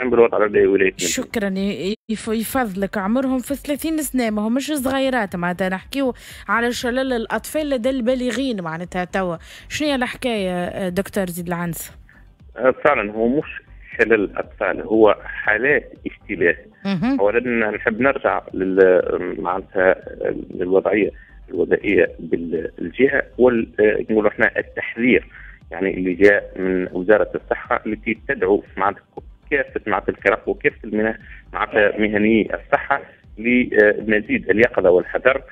بالوضع لدى ولاية. شكرا، يفضلك. عمرهم في 30 سنة، ما همش صغيرات، معناتها نحكيو على شلل الأطفال لدى البالغين معناتها. توا شنو هي الحكاية دكتور زيد العنز؟ فعلا هو مش شلل الأطفال، هو حالات اشتباه. أولا نحب نرجع معناتها للوضعية الوبائية بالجهة، ونقولوا احنا التحذير يعني اللي جاء من وزارة الصحة التي تدعو معناتها كافة معناتها الفرق وكافة معناتها مهنيي الصحة لمزيد اليقظة والحذر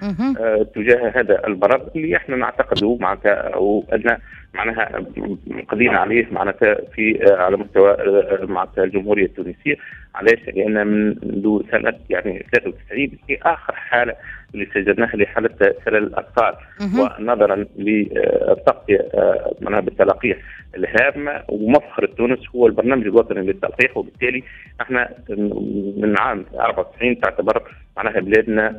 تجاه هذا المرض اللي احنا نعتقده معناتها أو أن معناها قضينا عليه معناتها في على مستوى معناتها الجمهورية التونسية. علاش؟ لأن منذ سنة يعني 93 في آخر حالة اللي سجلناها لحالة شلل الأطفال، ونظرا للتغطية معناها بالتلقيح الهامة ومفخرة تونس هو البرنامج الوطني للتلقيح، وبالتالي احنا من عام 94 تعتبر معناها بلادنا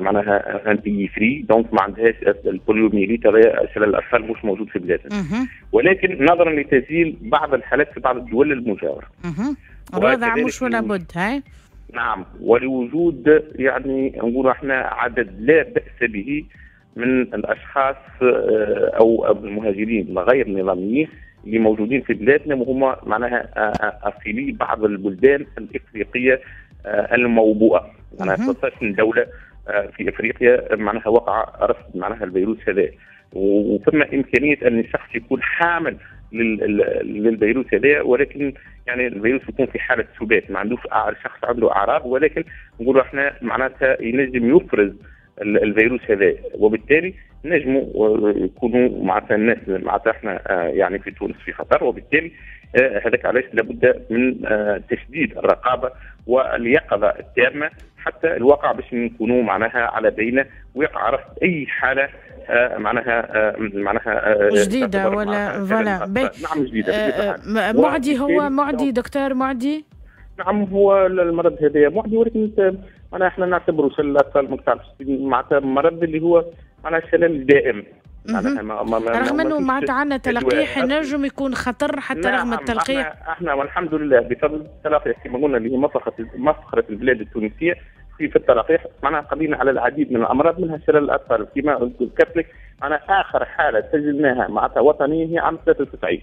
معناها un pays free، donc ما عندهاش ال poliomyélite، شلل الاطفال مش موجود في بلادنا. ولكن نظرا لتسجيل بعض الحالات في بعض الدول المجاورة الوضع مش ولا بد. هاي نعم، ولوجود يعني نقول احنا عدد لا بأس به من الاشخاص او المهاجرين غير النظاميين اللي موجودين في بلادنا، وهم معناها اصيلي بعض البلدان الافريقية الموبوءه، معناها 13 دولة في افريقيا معناها وقع رصد معناها الفيروس هذا، وثم امكانية ان الشخص يكون حامل للفيروس هذا، ولكن يعني الفيروس يكون في حاله سبات، ما عندوش شخص عنده اعراض، ولكن نقولوا احنا معناتها ينجم يفرز الفيروس هذا، وبالتالي نجموا يكونوا معناتها الناس معناتها احنا يعني في تونس في خطر، وبالتالي هذاك علاش لابد من تشديد الرقابة واليقظه التامة حتى الواقع باش نكونوا معناها على بينه ويقع رصد اي حاله معناها جديدة ولا voilà. نعم جديدة. معدي، هو معدي دكتور، معدي؟ نعم هو المرض هذا معدي، ولكن معناها احنا نعتبره شلل الاطفال معناتها مرض اللي هو معناها شلل دائم. رغم انه معناتها عندنا تلقيح نجم يكون خطر حتى. نعم، رغم التلقيح احنا والحمد لله بفضل التلقيح كما قلنا اللي هي مفخرة البلاد التونسية في التلقيح، معناها قضينا على العديد من الامراض منها شلل الاطفال كما ذكرت لك. معناها اخر حاله سجلناها معناتها وطنية هي عام 93،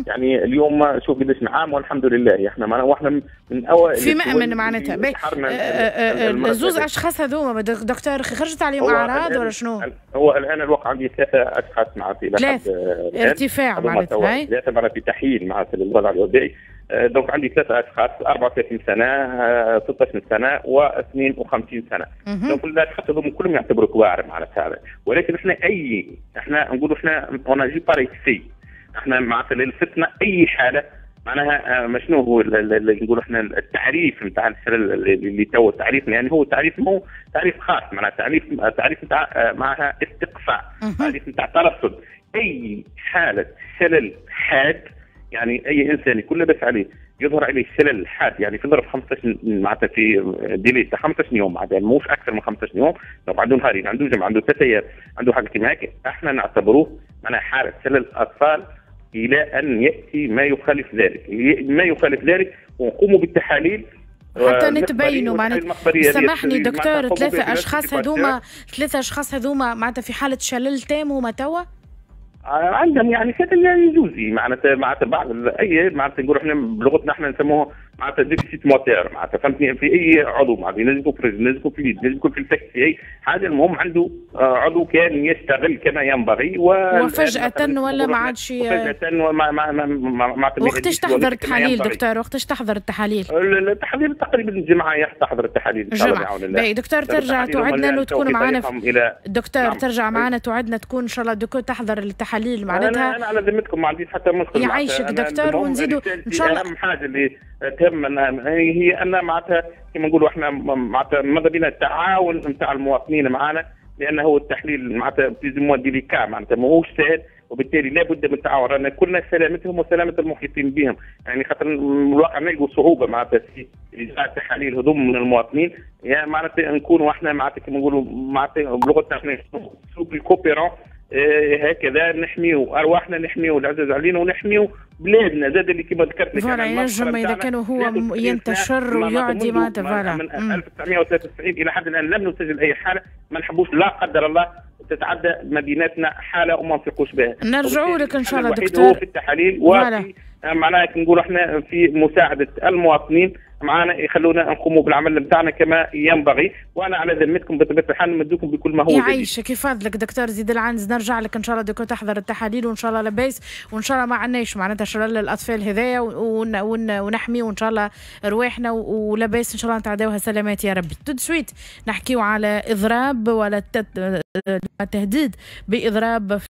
يعني اليوم شوف قداش عام، والحمد لله احنا معناها واحنا من اوائل في مأمن معناتها. زوز اشخاص هذوما دكتور خرجت عليهم اعراض ولا شنو؟ هو الان الوقع عندي 3 اشخاص معناتها 3 ارتفاع معناتها 3 معناتها في تحيين معناتها للوضع الوبائي. donc عندي 3 اشخاص 34 سنة، 16 سنة و52 سنة. donc الاشخاص هذوما كلهم يعتبروا كبار معناتها، ولكن احنا اي احنا نقولوا احنا on agit par excès، احنا معناتها للفتنة اي حاله معناها شنو هو اللي نقولوا احنا التعريف نتاع اللي تو التعريف، يعني هو تعريف مو تعريف خاص، معناها تعريف نتاع معناها استقصاء، تعريف نتاع ترصد اي حاله شلل حاد، يعني اي انسان يكون لاباس عليه يظهر عليه شلل حاد، يعني في ظرف 15 معناتها في délai تاع 15 يوم، معناتها مش اكثر من 15 يوم، لو عنده نهارين، عنده جمعه، عنده 3 ايام، عنده حاجة كيما هيك، احنا نعتبروه معناها حاله شلل اطفال الى ان ياتي ما يخالف ذلك، ما يخالف ذلك ونقوموا بالتحاليل حتى نتبينوا معناتها. سامحني دكتور، 3 اشخاص هذوما، 3 اشخاص هذوما معناتها في حاله شلل تام هما توا؟ عندهم يعني شلل جزئي معناتها بعض اي معناتها نقولوا احنا بلغتنا احنا نسموه معناتها déficit moteur، معناتها فهمتني، في اي عضو معناتها ينجم يكون في الرجل، ينجم يكون في اليد، ينجم يكون في الفك، في اي حاجة، المهم عنده عضو كان يشتغل كما ينبغي وفجأة ولا ما عادش فجأة وما ما ما ما وقتاش تحضر التحاليل دكتور؟ وقتاش تحضر التحاليل؟ التحاليل تقريبا الجمعة تحضر التحاليل ان شاء الله بعون الله. باهي دكتور، ترجع توعدنا انه تكون معنا دكتور. نعم. ترجع معنا توعدنا تكون ان شاء الله دكتور تحضر التحاليل معناتها. انا على ذمتكم ما عنديش حتى مشكل. يعيشك دكتور، ونزيدوا ان شاء الله. اهم حاجة اللي تهمنا هي ان معناتها كما نقولوا احنا معناتها ماذا بينا التعاون نتاع المواطنين معنا، لانه هو التحليل معناتها plus ou moins délicat، معناتها ماهوش سهل، وبالتالي لابد من التعاون، رانا كلنا سلامتهم وسلامه المحيطين بهم، يعني خاطر الواقع نلقوا صعوبة معناتها في اجراء التحاليل هذوم من المواطنين، يعني معناتها نكونوا احنا معناتها كما نقولوا معناتها بلغتنا احنا souples coopérants. هكذا نحميو ارواحنا، نحميو العزاز علينا، ونحميو بلادنا زاد اللي كما ذكرت لك. voilà، ينجم اذا كان هو ينتشر ويعدي معناتها. voilà، من 1993 الى حد الان لم نسجل اي حاله. ما نحبوش لا قدر الله تتعدى ما بيناتنا حاله وما نفيقوش بها. نرجعوا لك ان شاء الله دكتور. هو في التحاليل وفي معناها نقولوا احنا في مساعدة المواطنين معنا، يخلونا نقوموا بالعمل نتاعنا كما ينبغي، وانا على ذمتكم بطبيعة الحال نمدوكم بكل ما هو جديد. يعيشك، يفضلك دكتور زيد العنز. نرجع لك ان شاء الله دكتور تحضر التحاليل، وان شاء الله لاباس، وان شاء الله ما عندناش معناتها شلل الاطفال هذايا، ونحمي وان شاء الله رواحنا ولاباس، ان شاء الله نتعداوها سلامات يا ربي. tout de suite نحكيو على اضراب ولا التهديد باضراب.